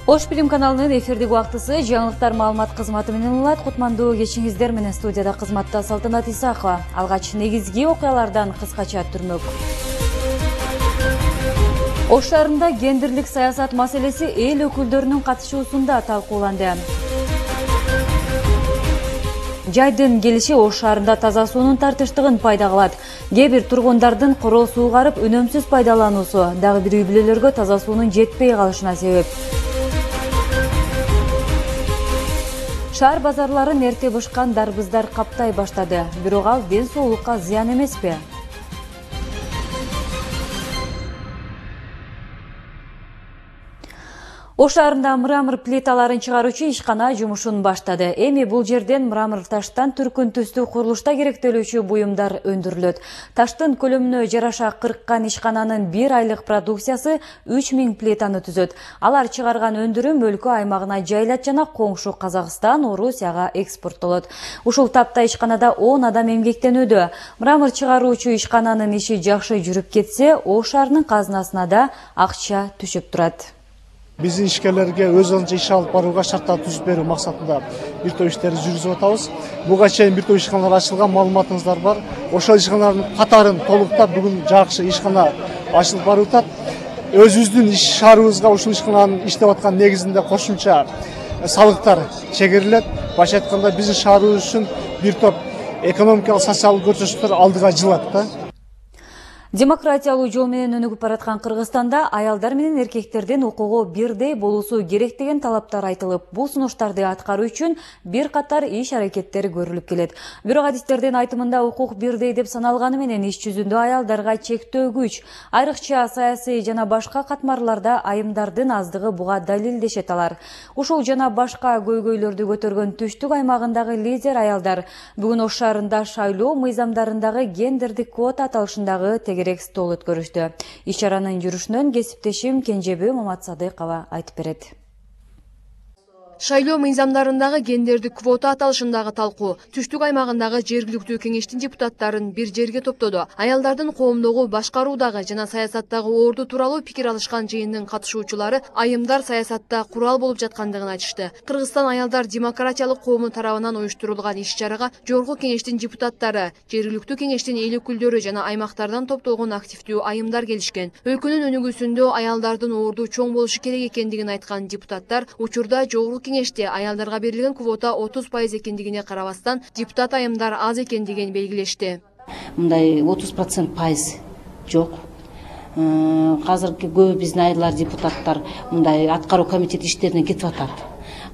Ош Билим каналынын эфирдик убактысы жаңылыктар маалымат кызматы менен улат. Кутмандуу кечиңиздер менен студияда кызматта Салтанат Исакова. Алгач негизги окуялардан кыскача түрмөк. Ош шаарында гендерлик саясат маселеси эл өкүлдөрүнүн катышуусунда талкууланды. Жайдын келиши Ош шаарында таза суунун тартыштыгын пайда кылат. Кээ бир тургундардын корол суугарып өнөмсүз пайдалануусу дагы бир үй бүлөлөргө таза суунун жетпей калышына себеп. Шаар базарларын эрте бышкан дарбыздар каптай баштады. Бирок ал ден соолукка зыян эмеспи? Ош шаарында мрамор плиталарын чыгаруучу ишкана жумушун баштады. Эми бул жерден мрамор таштан түркүн түстүү курулушта керектелүүчү буюмдар өндүрүлөт. Таштын көлөмүнө жараша 40 ишкананын 1 айлык продукциясы 3000 плитаны түзөт. Алар чыгарган өндүрүм өлкө аймагына жайылат жана коңшу Казакстан, Орусияга экспорттолот. Ушул тапта ишканада 10 адам эмгектенүүдө. Мрамор чыгаруучу ишкананын иши жакшы жүрүп кетсе, Ош шаарынын казынасына да акча түшүп турат. Биздин ишкерлерге өзүнчө иш алып барууга шарттар түзүп берүү максатында бир топ иштерди жүргүзүп атабыз. Буга чейин бир топ ишканалар ачылган, маалыматыңыздар бар. Ошол ишканалардын катарын толуктап бүгүн жакшы ишкана ачылып барып атат. Өзүбүздүн иш шаарыбызга ушул ишкананын иштеп аткан негизинде кошумча салыктар чегерилет. Башка айтканда биздин шаарыбыз үчүн бир топ экономикалык, социалдык көрсөтүктөр алдыга жылат да. Демократиялуу жол менен өнүгүп бараткан Кыргызстанда аялдар менен эркектердин укугу бирдей болуусу керек деген талаптар айтылып, бул сунуштарды аткаруу үчүн бир катар иш-аракеттер көрүлүп келет. Бирок адистердин айтымында укук бирдей деп саналганы менен иш жүзүндө аялдарга чектөө күч. Айрыкча саясий жана башка катмарларда айымдардын аздыгы буга далил дешет алар. Ушул жана башка көйгөйлөрдү көтөргөн түштүк аймагындагы лидер аялдар бүгүн Ош шаарында шайлоо мыйзамдарындагы гендердик квота аталышындагы стол өткөрүштү. Иш-чаранын жүрүшүнөн кесиптешим Кенжебүй Маматсадыкова айтып берет. Шайлоо мыйзамдарындагы гендердик квота аталышындагы талкуу түштүк аймагындагы жергиликтүү кеңештин депутаттарын бир жерге топтоду. Аялдардын коомдогу башкаруудагы жана саясаттагы орду тууралуу пикир алышкан жыйындын катышуучулары айымдар саясатта курал болуп жаткандыгын айтышты. Кыргызстан аялдар демократиялык коому тарабынан уюштурулган иш-чарага жогорку кеңештин депутаттары, жергиликтүү кеңештин эл өкүлдөрү жана аймактардан топтолгон активдүү айымдар келишкен. Өлкөнүн өнүгүүсүндө аялдардын орду чоң болушу керек экендигин айткан депутаттар учурда жогорку кеңеште аялдарга берилген квота 30% экендигине карабастан депутат айымдар аз экендигин белгилешти. Мындай 30% пайыз жок. Азыркы көп биздин айылдар депутаттар мындай аткаруу комитет иштерине кетип атат.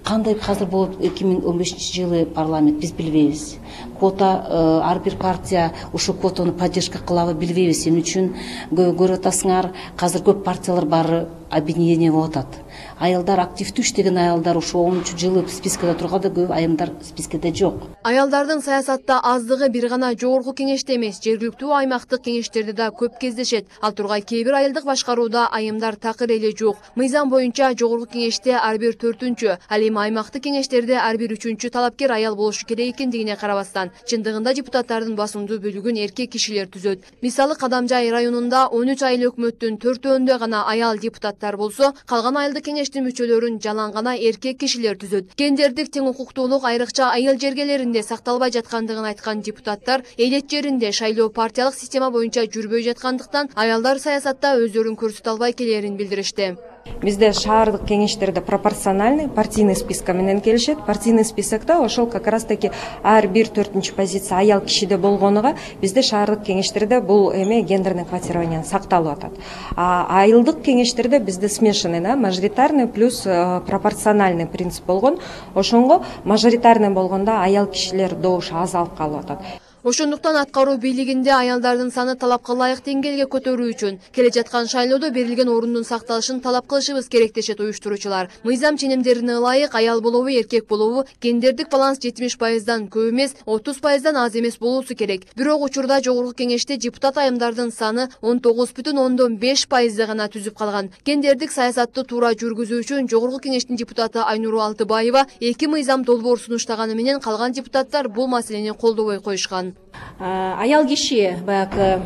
Кандай азыр болуп 2015 жылы парламент биз билбейбиз. Квота ар бир партия ушул квотаны поддержка кылабы билбейбиз. Эмне үчүн көрүп атасыңар, азыр көп партиялар баары объединение болуп атат. Аялдар активдүү иштеген аялдар ушул 10-жылы спискеде турганда көп айымдар спискеде жок. Аялдардын саясатта аздыгы бир гана жогорку кеңеште эмес, жергиликтүү аймактык кеңештерде да көп кездешет. Ал тургай кээ бир айылдык башкарууда айымдар такыр эле жок. Мыйзам боюнча жогорку кеңеште ар бир 4-чү, ал эми аймактык кеңештерде ар бир 3-чү талапкер аял болушу керек экендигине карабастан, чындыгында депутаттардын басымдуу бөлүгүн эркек кишилер түзөт. Мисалы Кадамжай районунда 13 айыл өкмөттүн 4-өндө гана аял депутаттар болсо, калган айылдык кеңештин мүчөлөрүн жалаң гана эркек кишилер түзөт. Гендердик тең укуктуулук айрыкча айыл жергелеринде сакталбай жаткандыгын айткан депутаттар элет жеринде шайлоо партиялык система боюнча жүрбөй жаткандыктан аялдар саясатта өздөрүн көрсөтө албай келерин билдиришти. Бизде шаардык кеңештерде пропорциональный партийный списка менен келишет. Партийный списокто ошол как раз таки ар бир 4-чү позиция аял кишиде болгонуга бизде шаардык кеңештерде бул эме гендерный квотирование сакталып атат. Айылдык кеңештерде бизде смешанный, мажоритарный плюс пропорциональный принцип болгон. Ошонго мажоритарный болгондо аял кишилер добуш азалып калып атат. Ошондуктан аткаруу бийлигинде аялдардын саны талапка ылайык деңгээлге көтөрүү үчүн келе жаткан шайлоодо берилген ордун сакталышын талап кылышыбыз керек дешет уюштуруучулар. Мыйзам ченемдерине ылайык аял болобу, эркек болобу, гендердик баланс 70%дан көп эмес, 30%дан аз эмес болуусу керек. Бирок учурда жогорку кеңеште депутат айымдардын саны 19,5% гана түзүп калган. Гендердик саясатты туура жүргүзүү үчүн жогорку кеңештин депутаты Айнуру Алтыбаева 2 мыйзам долбоор сунуштаганы менен калган депутаттар бул маселени колдобой коюшкан. Аял киши баягы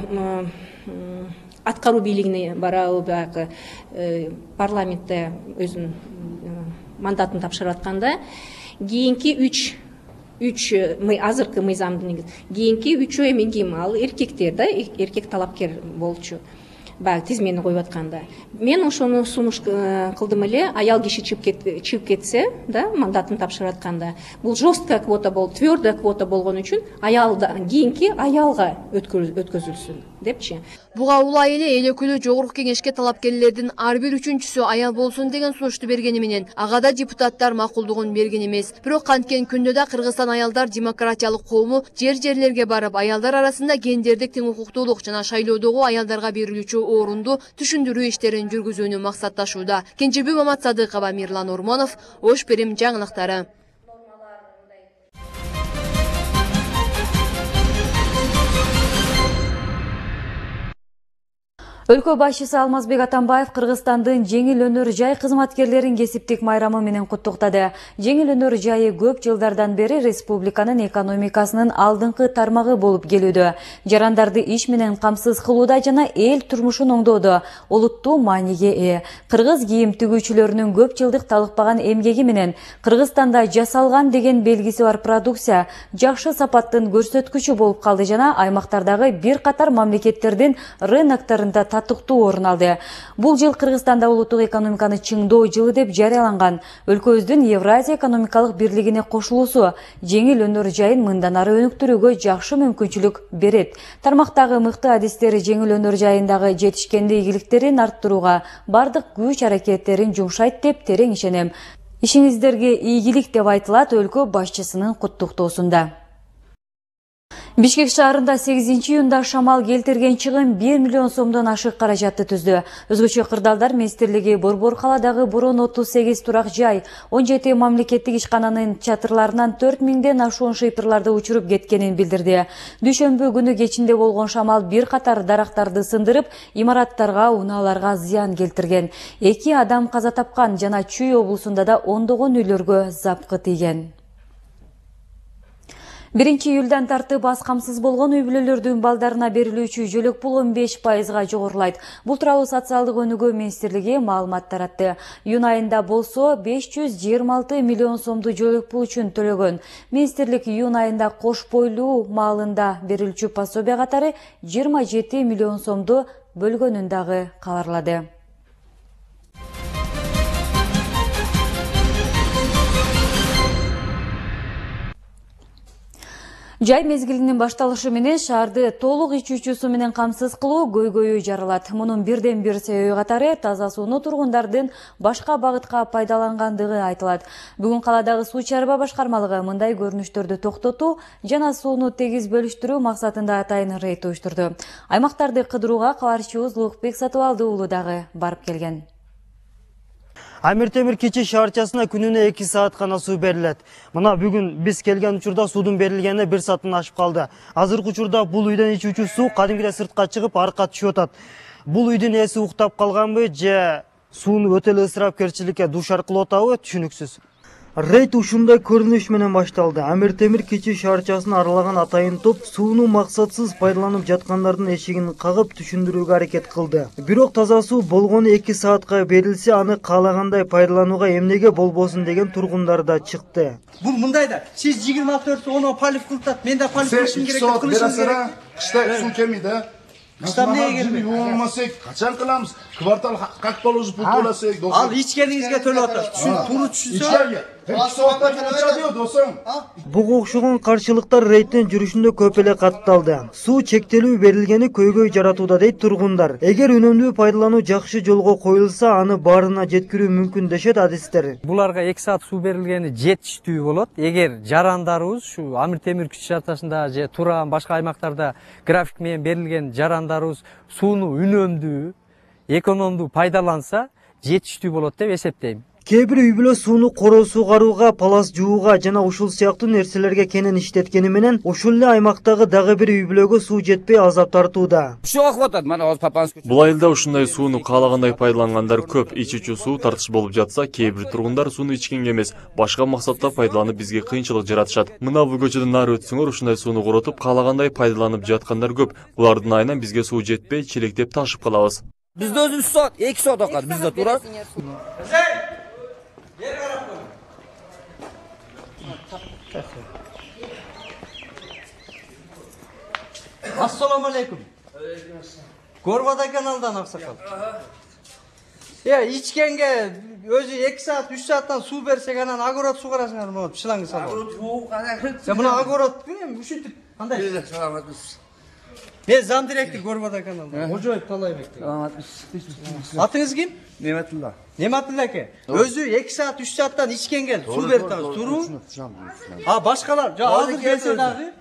аткаруу бийлигине барабы, баягы парламентте өзүнүн мандатын тапшырып атканда кийинки үч азыркы мыйзамдын кийинки үчөө эми ким ал эркектер да, эркек талапкер болчу. Баягы тизмени коюп атканда мен ошону сунуш кылдым эле, аял киши чыгып кетсе да, мандатын тапшырып атканда бул жесткая квота болуп, твердая квота болгон үчүн аялдан кийинки аялга өткөзүлсүн депчи. Буга улай эле өкүлү жогорку кеңешке талапкерлердин ар бир үчүнчүсү аял болсун деген сунушту бергени менен ага да депутаттар макулдугун берген эмес. Бирок канткен күндө да Кыргызстан аялдар демократиялык коому жер-жерлерге барып, аялдар арасында гендердик тең укуктуулук жана шайлоодогу аялдарга берилүүчү орунду түшүндүрүү иштерин жүргүзүүнү максатташууда. Кенжебек Маматсадыкова, Мирлан Ормонов, Ош Перим жаңылыктары. Өлкө башчысы Алмазбек Атамбаев Кыргызстандын жеңил өнөр жай кызматкерлерин кесиптик майрамы менен куттуктады. Жеңил өнөр жайы көп жылдардан бери республиканын экономикасынын алдыңкы тармагы болуп келүүдө. Жарандарды иш менен камсыз кылууда жана эл турмушун оңдоодо олуттуу мааниге ээ. Кыргыз кийим тигүүчүлөрүнүн көп жылдык талыкпаган эмгеги менен Кыргызстанда жасалган деген белгиси бар продукция жакшы сапаттын көрсөткүчү болуп калды жана аймактардагы бир катар мамлекеттердин рыноктарында татыктуу орун алды. Бул жыл Кыргызстанда улуттук экономиканы чыңдоо жылы деп жарыяланган. Өлкөбүздүн Евразия экономикалык бирлигине кошулуусу жеңил өнөр жайын мындан ары өнүктүрүүгө жакшы мүмкүнчүлүк берет. Тармактагы мыкты адистер жеңил өнөр жайындагы жетишкенди ийгиликтерин арттырууга бардык күч аракеттерин жумшайт деп терең ишенем. Ишиңиздерге ийгилик деп айтылат өлкө башчысынын куттуктоосунда. Бишкек шаарында 8-июнда шамал келтирген чыгым 1 миллион сомдон ашык каражатты түздү. Өзгөчө кырдаалдар министрлиги Борбор каладагы Бурун 38 турак жай, 17 мамлекеттик ишкананын чатырларынан 4000ден ашуун шыйпырларды учуруп кеткенин билдирди. Дүйшөмбү күнү кечинде болгон шамал бир катар дарактарды сындырып, имараттарга, унааларга зыян келтирген. 2 адам каза тапкан жана Чүй облусунда да ондогон үйлөргө запкы тийген. 1-июлдан тартып аз камсыз болгон үй бүлөлөрдүн балдарына берилүүчү жөлөк пул 15%га жогорулайт. Бул тууралуу социалдык өнүгүү министрлиги маалымат таратты. Июнь айында болсо 526 миллион сомду жөлөк пул үчүн төлөгөн. Министрлик июнь айында кош бойлуу маалында берилүүчү пособия катары 27 миллион сомду бөлгөнүн дагы кабарлады. Жай мезгилинин башталышы менен шаарды толук ичүүчү суу менен камсыз кылуу көйгөйү жаралат. Мунун бирден бир себеби катары таза сууну тургундардын башка багытка пайдалангандыгы айтылат. Бүгүн каладагы суу чарба башкармалыгы мындай көрүнүштөрдү токтотуу жана сууну тегиз бөлүштүрүү максатында атайын рейд уюштурду. Аймактарды кыдырууга кабарчыбыз Улукбек Сатыбалды уулу дагы барып келген. Амир Темир кичи шаарчасына күнүнө 2 саат гана суу берилет. Мына бүгүн биз келген учурда суудун берилгенине 1 сааттан ашып калды. Азыркы учурда бул үйдөн ичүүчү суу кадимгидей сыртка чыгып, аркка түшүп атат. Бул үйдүн ээси уктап калганбы же сууну өтө эле ысырапкерчиликке дуушар кылып атабы түшүнүксүз. Рейд ушундай көрүнүш менен башталды. Амир Темир кичи шаарчасын аралаган атайын топ сууну максатсыз пайдаланып жаткандардын эшигин кагып түшүндүрүүгө аракет кылды. Бирок таза суу болгону 2 саатка берилсе, аны каалагандай пайдаланууга эмнеге болбосун деген тургундар да чыкты. Бул мындай да, сиз 24 оны полив кылтат, мен да полив кылышым керек, кылышым керек. Кышта суу келмейди. Кышта эмнеге келбейт? Болмасак, качан кыламыз? Квартал как положено пул төлөсөк. Ал ичкениңизге төлөп атат. Туура түшүнсө. Буга окшогон каршылыктар рейдтин жүрүшүндө көп эле катталды. Суу чектелүү берилгени көйгөй жаратууда дейт тургундар. Эгер үнөмдүү пайдалануу жакшы жолго коюлса, аны баарына жеткирүү мүмкүн дешет адистер. Буларга 2 саат суу берилгени жетиштүү болот. Эгер жарандарыбыз ушу Амир Темир кичи шаарчасында же Туран башка аймактарда график менен берилген жарандарыбыз сууну үнөмдүү, экономдуу пайдаланса, жетиштүү болот деп эсептейм. Кээ бир үй бүлө сууну короо сугарууга, палас жууга жана ушул сыяктуу нерселерге кенен иштеткени менен ошол эле аймактагы дагы бир үй бүлөгө суу жетпей азап тартууда. Бул айылда ушундай сууну каалагандай пайдалангандар көп. Ичүүчү суу тартыш болуп жатса, кээ бир тургундар сууну ичкенге эмес, башка максатта пайдаланып бизге кыйынчылык жаратышат. Мына бул көчөдөн нары өтсөңөр, ушундай сууну коротуп каалагандай пайдаланып жаткандар көп. Булардын айынан бизге суу жетпей, челектеп ташып калабыз. Бизде өзүбүз саат 2 саат акат, бизде тура. Assalamu алейкум. Горбада каналдан аксакал. Ичкенге өзү 2 саат 3 сааттан суу берсек анан огород сугарасыңар болот, шланг салып. Огород жуу кана. Мына огород ушинтип кандай? Саламатсыз. Мен зам директор Горбада каналдан. Кожоев Талайбек. Саламатсыз. Атыңыз ким? Неметилла. Неметилла аке. Өзү 2 саат 3 сааттан ичкенге суу берип атабыз. Туруу. Башкалар, азыр келсе дагы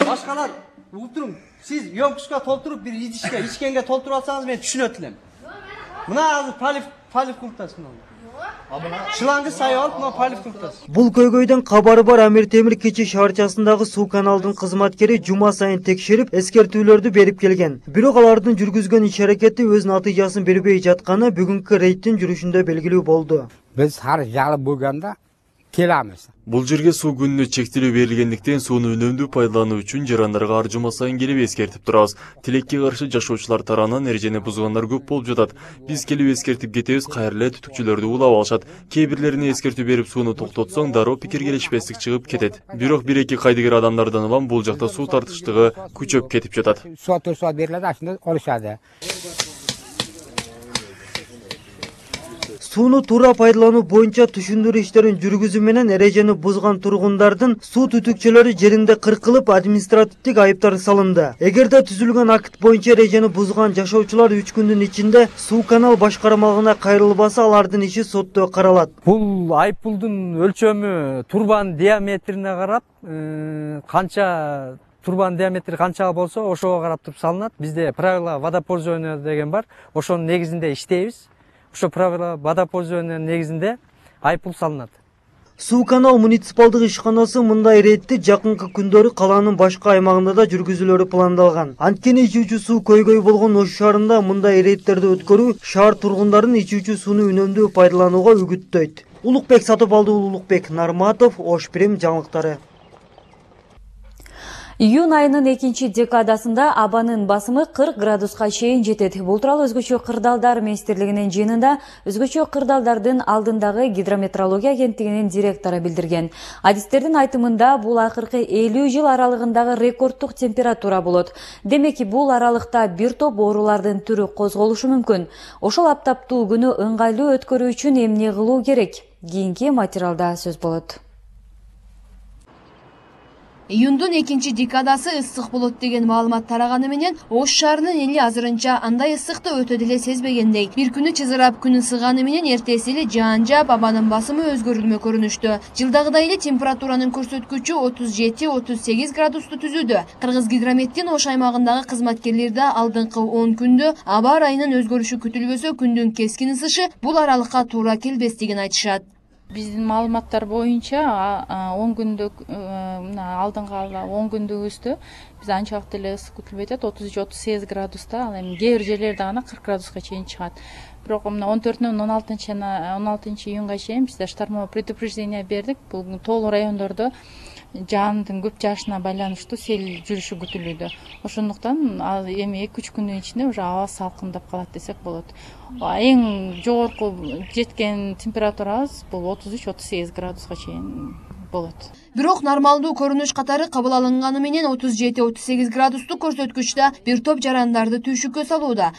башкалар угуп туруң. Siz yonkuşka толтуруп bir idişke, içkenge толтуруп алсаңыз мен түшүнөт элем. Мына азыр палив кылыптасың. Шылаңгы сай алып, мына палив кылыптасың. Бул көйгөйдөн кабары бар Амир Темир Кечи шаарчасындагы суу каналдын кызматкери жума сайын текшерип, эскертүүлөрдү берип келген. Бирок алардын жүргүзгөн иш-аракети өз натыйжасын бербей жатканы бүгүнкү рейдтин жүрүшүндө белгилүү болду. Биз ар жалы болгондо келемиz. Бул жерге суу күнүнө чектелүү берилгендиктен сууну үнөмдүү пайдалануу үчүн жарандарга ар жума сайын келип эскертип турабыз. Тилекке каршы жашоочулар тарабынан эрежени бузгандар көп болуп жатат. Биз келип эскертип кетебиз, кайра эле түтүкчүлөрдү улап алышат. Кээ бирлерине эскертүү берип сууну токтотсоң, дароо пикир келишпестик чыгып кетет. Бирок 1-2 кайдыгер адамдардан улам бул жакта суу тартыштыгы күчөп кетип жатат. Сот берилет, ашында олушады. Сууну туура пайдалануу боюнча түшүндүрүү иштерин жүргүзүү менен эрежени бузган тургундардын суу түтүкчөлөрү жеринде кыркылып, административдик айыптар салынды. Эгерде түзүлгөн акт боюнча эрежени бузган жашоочулар 3 күндүн ичинде суу канал башкармалыгына кайрылбаса, алардын иши сотто каралат. Бул айыппулдун өлчөмү турбанын диаметрине карап, канча турбанын диаметри канча болсо, ошого карап туруп салынат. Бизде правила водопользования деген бар. Ошонун негизинде иштейбиз. Ошо правила водопользования негизинде айыппул салынат. Суу канал муниципалдык ишканасы мындай рейдти жакынкы күндөрү калаанын башка аймагында да жүргүзүлөрү пландалган. Анткени ичүүчү суу көйгөй болгон Ош шаарында мындай рейдтерди өткөрүү шаар тургундарын ичүүчү сууну үнөмдүү пайдаланууга үгүттөйт. Улукбек Сатыбалды, Улукбек Нарматов, Ош Прим жаңылыктары. Июнь айынын 2-чи декадасында абанын басымы 40 градуска чейин жетет. Бул тууралуу Өзгөчө кырдаалдар министрлигинин жыйынында Өзгөчө кырдаалдардын алдындагы гидрометеорология агенттигинин директору билдирген. Адистердин айтымында бул акыркы 50 жыл аралыгындагы рекорддук температура болот. Демек, бул аралыкта бир топ оорулардын түрү козголушу мүмкүн. Ошол аптаптуу күнү ыңгайлуу өткөрүү үчүн эмне кылуу керек? Кийинки материалда сөз болот. Июндун 2-чи декадасы ысык болот деген маалымат тараганы менен Ош шаарынын эли азырынча андай ысыкты өтө деле сезбегендей. Бир күнү чызырап, күн ысыганы менен эртеси эле жаан жаап, абанын басымы өзгөрүлмө көрүнүштү. Жылдагыдай эле температуранын көрсөткүчү 37-38 градусту түзүүдө. Кыргыз гидрометтин Ош аймагындагы кызматкерлерде алдыңкы 10 күндө аба ырайынын өзгөрүшү күтүлбөсө, күндүн кескин ысышы бул аралыкка туура келбестигин айтышат. Биздин маалыматтар боюнча 10 күндүк алдыңкы 10 күндүгүбүздө биз анчалык деле ысык күтүлбөйт, 33-38 градуста, ал эми кээ бир жерлерде гана 40 градуска чейин чыгат. Бирок мына 14-нөн 16 июнга чейин бизде штормовое предупреждение бердик. Бул тоолуу райондордо жаандын көп жаашына байланыштуу сел жүрүшү күтүлүүдө. Ошондуктан эми 2-3 күндүн ичинде уже аба салкындап калат десек болот. Эң жогорку жеткен температурабыз бул 33-38 градуска чейин болот. Бирок нормалдуу көрүнүш катары кабыл алынганы менен 37-38 градустук көрсөткүчтө бир топ жарандарды түйшүккө салууда.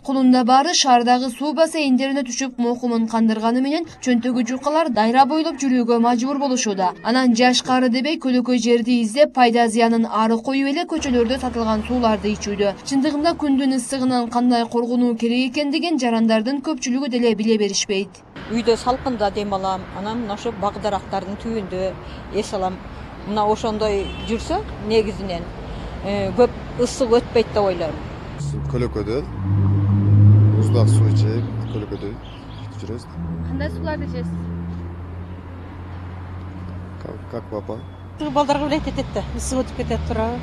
Кулунда баары шаардагы суу бассейндерине түшүп мокумун кандырганы менен чөнтөгү жукалар дайра бойлоп жүрүүгө мажбур болушууда. Анан жаш кары дебей көлөкөй жерди издеп, пайда зыянын ары коюп эле көчөлөрдө сатылган сууларды ичүүдө. Чындыгында күндүн ысыгынан кандай коргонуу керек экендигин жарандардын көпчүлүгү деле биле беришпейт. Үйдө салкында дем алам, анан ошо бак дарактардын түбүндө эс алам. Мына ошондой жүрсө негизинен көп ысык өтпөйт деп ойлойм. Көлөкөдө буздак суу ичип, көлөкөдө жүрөбүз. Кандай сууларды ичесиз? Как папа? Балдарга билет этет да, ысык өтүп кетет туурабы.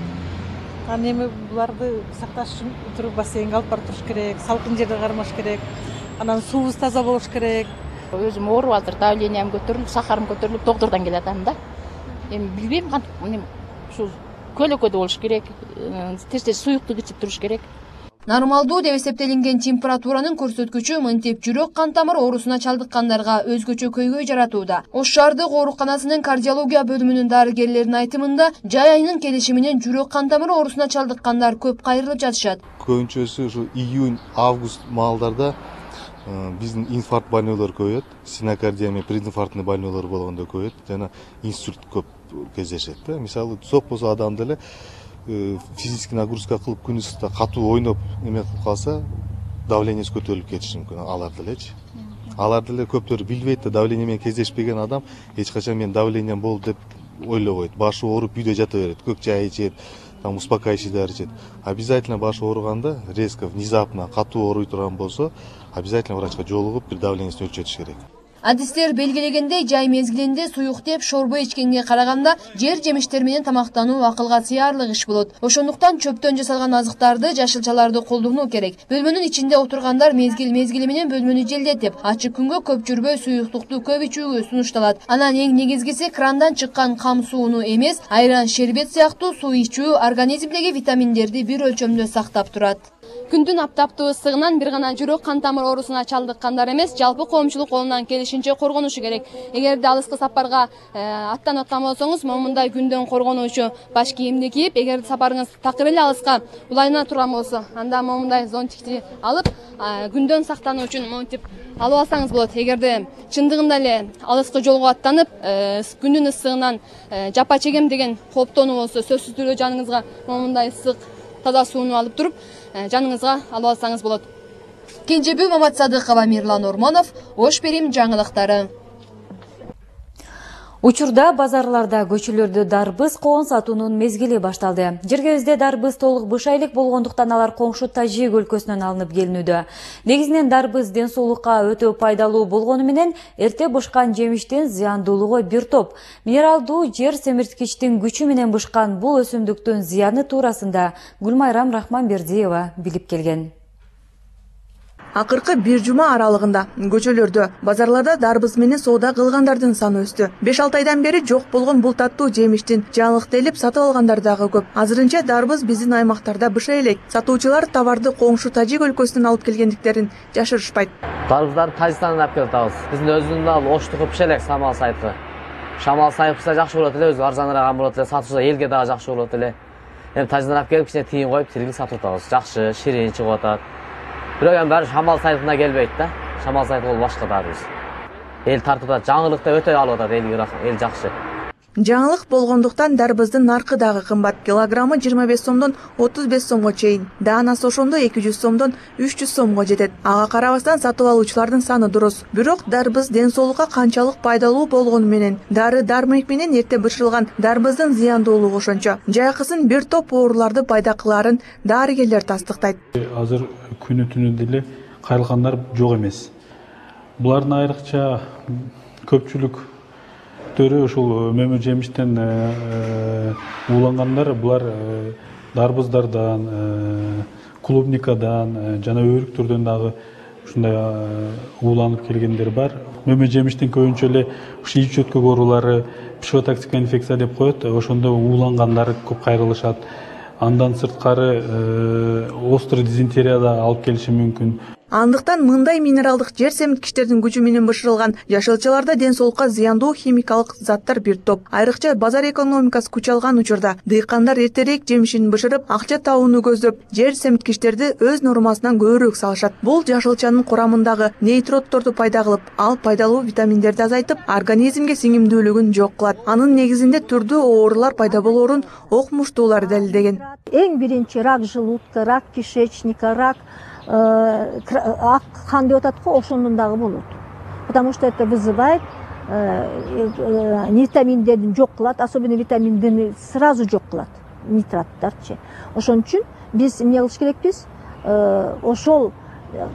Аны эми буларды сакташ үчүн туруп бассейнге алып барып туруш керек, салкын жерде кармаш керек. Анан суубуз таза болуш керек. Өзүм ооруп атыр, давлениям көтөрүлүп, сахарым көтөрүлүп, доктурдан келатам да. Эми билбейм кантип ушул көлөкөдө болуш керек, тез суюктук ичип туруш керек. Нормалдуу деп эсептелинген температуранын көрсөткүчү мынтип жүрөк кан тамыр оорусуна чалдыккандарга өзгөчө көйгөй жаратууда. Ош шаардык ооруканасынын кардиология бөлүмүнүн дарыгерлеринин айтымында, жай айынын келиши менен жүрөк кан тамыр оорусуна чалдыккандар көп кайрылып жатышат. Көбүнчөсү ушу июнь, август маалдарда биздин инфаркт больнойлор көбөйөт, синокардия менен прединфарктный больнойлор болгондо көбөйөт, жана инсульт көп кездешет да. Мисалы сок болсо адам деле физический нагрузка кылып күн ысыкта катуу ойноп эме кылып калса, давлениеси көтөрүлүп кетиши мүмкүн алар делечи. Алар деле көптөр билбейт да, давление менен кездешпеген адам эч качан мен давлением болду деп ойлобойт. Башы ооруп үйдө жата берет, көк чай ичет, там успокаивающий дары ичет. Обязательно башы ооруганда, резко, внезапно катуу ооруй турган болсо, обязательно врачка жолугуп бир давлениесин өлчөтүш керек. Адистер белгилегендей, жай мезгилинде суюк деп шорбо ичкенге караганда жер жемиштер менен тамактануу акылга сыярлык иш болот. Ошондуктан чөптөн жасалган азыктарды, жашылчаларды колдонуу керек. Бөлмөнүн ичинде отургандар мезгили менен бөлмөнү желдетип, ачык күнгө көп жүрбөй суюктукту көп ичүүгө сунушталат. Анан эң негизгиси крандан чыккан кам сууну эмес, айран, шербет сыяктуу суу ичүү организмдеги витаминдерди бир өлчөмдө сактап турат. Күндүн аптаптуу ысыгынан бир гана жүрөк кан тамыр оорусуна чалдыккандар эмес, жалпы коомчулук колунан келишинче коргонушу керек. Эгерде алыскы сапарга аттанып аткан болсоңуз, момундай күндөн коргонуучу баш кийимди кийип, эгер сапарыңыз такыр эле алыска улайына турган болсо, анда момундай зонтикти алып, күндөн сактануу үчүн монтип алып алсаңыз болот. Эгерде чындыгында эле алыскы жолго аттанып, күндүн ысыгынан жапа чегем деген кооптонуу болсо, сөзсүз түрдө жаныңызга момундай ысык таза сууну алып туруп, жаныңызга алып алсаңыз болот. Кенжебүү Маматсадыкова, Мирлан Ормонов, Ош Перим жаңылыктары. Учурда базарларда көчөлөрдө дарбыз коон сатуунун мезгили башталды. Жергебизде дарбыз толук бышайлык болгондуктан алар коңшу Тажик өлкөсүнөн алынып келинүүдө. Негизинен дарбыз ден соолукка өтө пайдалуу болгону менен эрте бышкан жемиштин зыяндуулугу бир топ. Минералдуу жер семирткичтин күчү менен бышкан бул өсүмдүктүн зыяны туурасында Гүлмайрам Рахманбердиева билип келген. Акыркы бир жума аралыгында көчөлөрдө, базарларда дарбыз менен соода кылгандардын саны өстү. 5-6 айдан бери жок болгон бул таттуу жемиштин жаңылыктелип сатып алгандар дагы көп. Азырынча дарбыз биздин аймактарда бышай элек. Сатуучулар товарды коңшу Тажик өлкөсүнөн алып келгендиктерин жашырышпайт. Дарбыздарды Тажикстандан алып келип атабыз. Биздин өзүбүздүн ал Оштук бышай элек Самал сайты. Шамал сайпса жакшы болот эле, өзү арзаныраак болот эле, сатуучу элге дагы жакшы болот эле. Эми Тажиктан алып келип кичине тыйын коюп, тирги сатып атабыз. Жакшы, ширин чыгып атат. Бирок эми баары Шамал сайтына келбейт да. Шамал сайты бул башка дарбыз. Эл тартып атат, жаңылыкта өтө алып атат, эл жакшы. Жаңылык болгондуктан дарбыздын наркы дагы кымбат. Килограммы 25 сомдон 35 сомго чейин. Даанасы ошондо 200 сомдон 300 сомго жетет. Ага карабастан сатып алуучулардын саны дурус. Бирок дарбыз ден соолукка канчалык пайдалуу болгону менен, дары-дармек менен эрте бышырылган дарбыздын зыяндуулугу ошончо. Жайкысын бир топ ооруларды пайда кылаарын дарыгерлер тастыктайт. Азыр күнү түнү деле кайрылгандар жок эмес. Булардын айрыкча көпчүлүк ушул мөмө жемиштен уулангандар, булар дарбыздардан, клубникадан жана өрүктөрдөн дагы ушундай ууланып келгендер бар. Мөмө жемиштин көбүнчө эле ушу ич өткөк оорулары, психотоксикалык инфекция деп коет, ошондо уулангандар көп кайрылышат. Андан сырткары острый дизентерия да алып келиши мүмкүн. Андыктан мындай минералдык жер семирткичтердин күчү менен бышырылган жашылчаларда ден соолукка зыяндуу химикалык заттар бир топ. Айрыкча базар экономикасы күч алган учурда дыйкандар эртерээк жемишин бышырып, акча табууну көздөп, жер семирткичтерди өз нормасынан көбүрөөк салышат. Бул жашылчанын курамындагы нейтротторду пайда кылып, ал пайдалуу витаминдерди азайтып, организмге сиңимдүүлүгүн жок кылат. Анын негизинде түрдүү оорулар пайда болоорун окумуштуулар далилдеген. Эң биринчи рак желудка, рак кишечника, рак ак қан деп атат го, ошондон дагы болот. Потому что это вызывает витаминдерди жок кылат, особенно витамин Д сразу жок кылат, нитраттарчы. Ошон үчүн биз эмне кылыш керекпиз? Ошол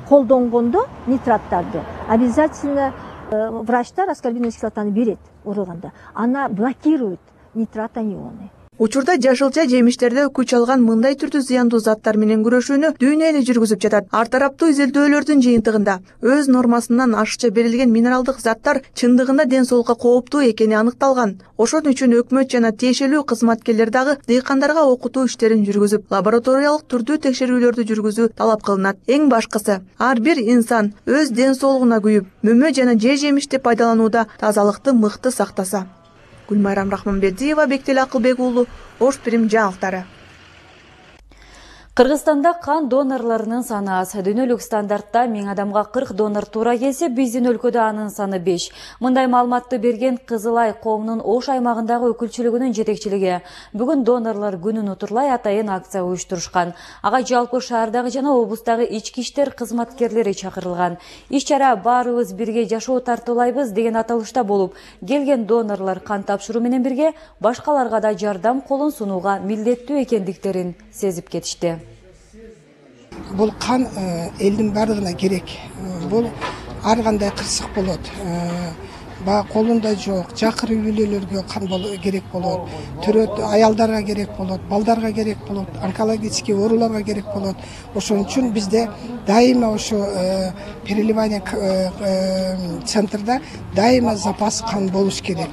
колдонгондо нитраттарды обязательно врачтар аскорбиновый кислотаны берет ураганда. Она блокирует нитратонионы. Учурда жашылча жемиштерде күч алган мындай түрдүү зыяндуу заттар менен күрөшүүнү дүйнө эле жүргүзүп жатат. Ар тараптуу изилдөөлөрдүн жыйынтыгында өз нормасынан ашыкча берилген минералдык заттар чындыгында ден соолукка кооптуу экени аныкталган. Ошон үчүн өкмөт жана тиешелүү кызматкерлер дагы дыйкандарга окутуу иштерин жүргүзүп, лабораториялык түрдүү текшерүүлөрдү жүргүзүү талап кылынат. Эң башкысы, ар бир инсан өз ден соолугуна күйүп, мөмө жана жемишти пайдаланууда тазалыкты мыкты сактаса. Гүлмайрам Рахманбердиева, Бектел Акылбек уулу, Ош Прим жаңылыктары. Кыргызстанда кан донорлорунун саны аз. Дүйнөлүк стандартта 1000 адамга 40 донор туура келсе, биздин өлкөдө анын саны 5. Мындай маалыматты берген Кызылай коомунун Ош аймагындагы өкүлчүлүгүнүн жетекчилиги. Бүгүн донорлор күнүн утурлай атайын акция уюштурушкан. Ага жалпы шаардагы жана облустагы ички иштер кызматкерлери чакырылган. Иш-чара баарыбыз бирге жашоо тартуулайбыз деген аталышта болуп, келген донорлор кан тапшыруу менен бирге башкаларга да жардам колун сунууга милдеттүү экендиктерин сезип кетишти. Бул кан элдин бардыгына керек. Бул ар кандай кырсык болот. Баа колунда жок, жакыр үй-бүлөлөргө кан керек болот. Төрөт аялдарга керек болот, балдарга керек болот, онкологический ооруларга керек болот. Ошон үчүн бизде дайыма ошо переливание центрда дайыма запас кан болуш керек.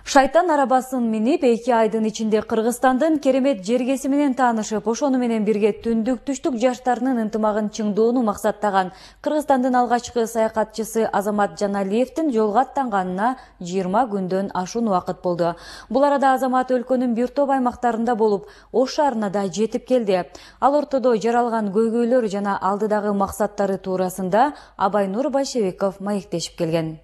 Шайтан арабасын минип 2 айдын ичинде Кыргызстандын керемет жергеси менен таанышып, ошону менен бирге түндүк-түштүк жаштарынын ынтымагын чыңдоону максаттаган Кыргызстандын алгачкы саякатчысы Азамат Жаналиевдин жолго аттанганына 20 күндөн ашуун убакыт болду. Бул арада Азамат өлкөнүн бир топ аймактарында болуп, Ош шаарына да жетип келди. Ал ортодо жаралган көйгөйлөр жана алдыдагы максаттары туурасында Абайнур Байшебеков маектешип келген.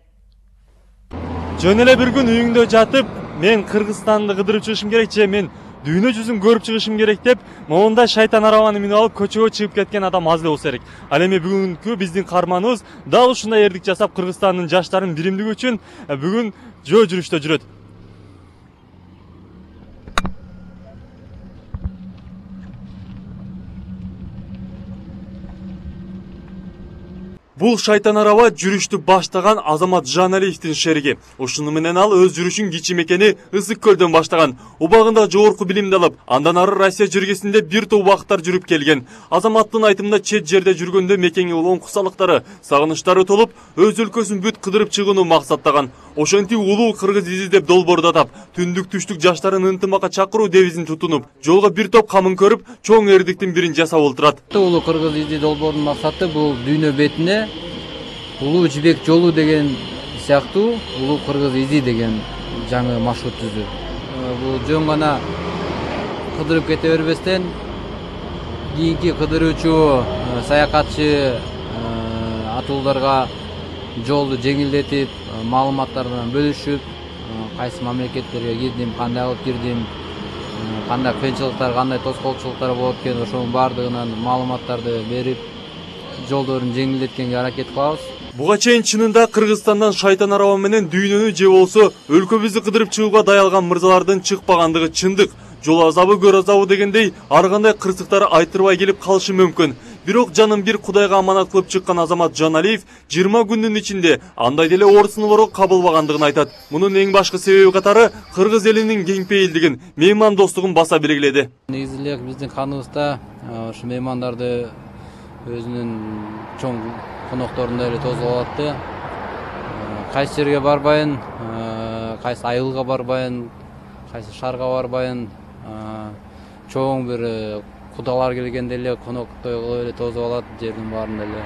Жөн эле бир күн үйүңдө жатып, мен Кыргызстанды кыдырып чыгышым керек же мен дүйнө жүзүн көрүп чыгышым керек деп, монда шайтан арабаны минип алып көчөгө чыгып кеткен адам аз эле болсо керек. Ал эми бүгүнкү биздин каарманыбыз дал ушундай эрдик жасап Кыргызстандын жаштарынын биримдиги үчүн бүгүн жөө жүрүштө жүрөт. Бул шайтан араба жүрүштү баштаган Азамат Жаналиевдин шериги. Ушуну менен ал өз жүрүшүн кичи мекени Ысык көлдөн баштаган. Убагында жогорку билимди алып, андан ары Россия жергесинде бир топ убакыттар жүрүп келген. Азаматтын айтымында чет жерде жүргөндө мекенге улам кусалыктары, сагынычтары толуп, өз өлкөсүн бүт кыдырып чыгууну максаттаган. Ошентип улуу кыргыз изи деп долбоордотуп, түндүк-түштүк жаштарын ынтымакка чакыруу девизин тутунуп, жолго бир топ камын көрүп, чоң эрдиктин бирин жасап олтурат. Улуу кыргыз изи долбоорунун максаты бул дүйнө бетине улуу жибек жолу деген сыяктуу улуу кыргыз изи деген жаңы маршрут түзүү. Бул жөн гана кыдырып кете бербестен кийинки кыдыруучу саякатчы атууларга жолду жеңилдетип, маалыматтар менен бөлүшүп, кайсы мамлекеттерге кирдим, кандай алып кирдим, кандай кыйынчылыктар, кандай тоскоолчулуктар болот экен, ошонун баардыгынан маалыматтарды берип, жолдорун жеңилдеткенге аракет кылабыз. Буга чейин чынында Кыргызстандан шайтан араба менен дүйнөнү же болсо өлкөбүздү кыдырып чыгууга даялган мырзалардын чыкпагандыгы чындык. Жол азабы, көр азабы дегендей ар кандай кырсыктар айтырбай келип калышы мүмкүн. Бирок жанын бир Кудайга аманат кылып чыккан Азамат Жаналиев 20 күндүн ичинде андай деле оорусунулорго кабылбагандыгын айтат. Мунун эң башкы себеби катары кыргыз элинин кеңпейилдигин, меймандостугун баса белгиледи. Негизи эле биздин каныбызда ушу меймандарды өзүнүн чоң конокторундай эле тосуп алат. Кайсы жерге барбайын, кайсы айылга барбайын, кайсы шаарга барбайын, чоң бир кудалар келгенде эле коноктой кылып эле тосуп алат жердин баарында эле.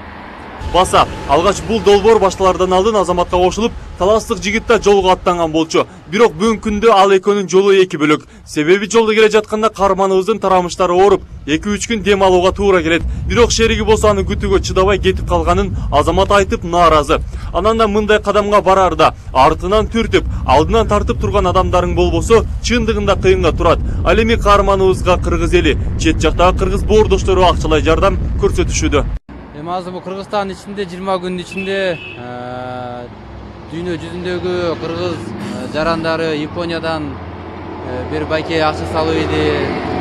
Баса, алгач бул долбоор башталардан алдын Азаматка кошулуп, таластык жигит да жолго аттанган болчу. Бирок бүгүнкү күндө ал экөөнүн жолу эки бөлөк. Себеби жолдо келе жатканда каарманыбыздын тарамыштары ооруп, 2-3 күн дем алууга туура келет. Бирок шериги болсо аны күтүүгө чыдабай кетип калганын Азамат айтып нааразы. Анан да мындай кадамга барарда артынан түртүп, алдынан тартып турган адамдарың болбосо, чындыгында кыйынга турат. Ал эми каарманыбызга кыргыз эли, чет жактагы кыргыз боордоштору акчалай жардам көрсөтүшүүдө. Эми азыр бул Кыргызстан ичинде 20 күн ичинде дүйнө жүзүндөгү кыргыз жарандары Япониядан бир байке акча салып иди,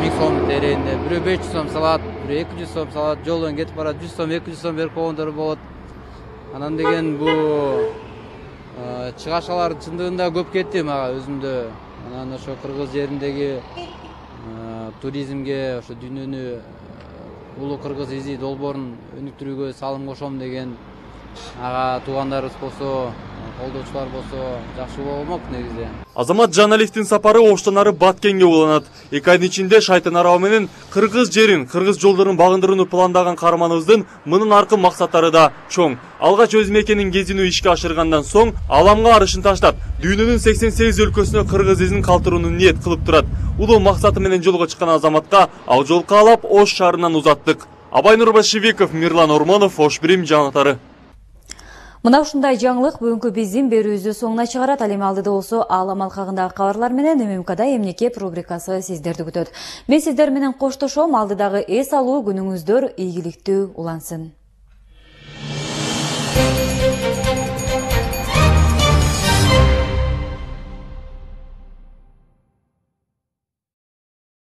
1000 сом теренде, бирөө 500 сом салат, бирөө 200 сом салат, жолдон кетип барат 100 сом, 200 сом берип койгондор болот. Анан деген бул чыгашалар чындыгында көп кетти мага өзүмдө. Анан ошо кыргыз жериндеги туризмге, ошо дүйнөнү улуу кыргыз изи долбоорун өнүктүрүүгө салым кошом деген ага туугандарыбыз болсо, колдоочулар болсо жакшы болмок негизи. Азамат Жаналиевдин сапары оштон ары Баткенге уланат. 2 айдын ичинде Шайтан арабы менен кыргыз жерин, кыргыз жолдорун багындырууну пландаган каарманыбыздын мындан аркы максаттары да чоң. Алгач өз мекенин кезинүү ишке ашыргандан соң аламга арышын таштап, дүйнөнүн 88 өлкөсүнө кыргыз изин калтырууну ниет кылып турат. Улуу максаты менен жолго чыккан азаматка ал жол каалап Ош шаарынан узаттык. Абай Нурбашевиков, Мирлан Ормонов, Ош Бирим жаңылыктары. Мына ушундай жаңылык бүгүнкү биздин берүүбүздү соңуна чыгарат. Ал эми алдыда болсо аалам алкагындагы кабарлар менен ММКда эмнеке рубрикасы сиздерди күтөт. Мен сиздер менен коштошом. Алдыдагы эс алуу күнүңүздөр ийгиликтүү улансын.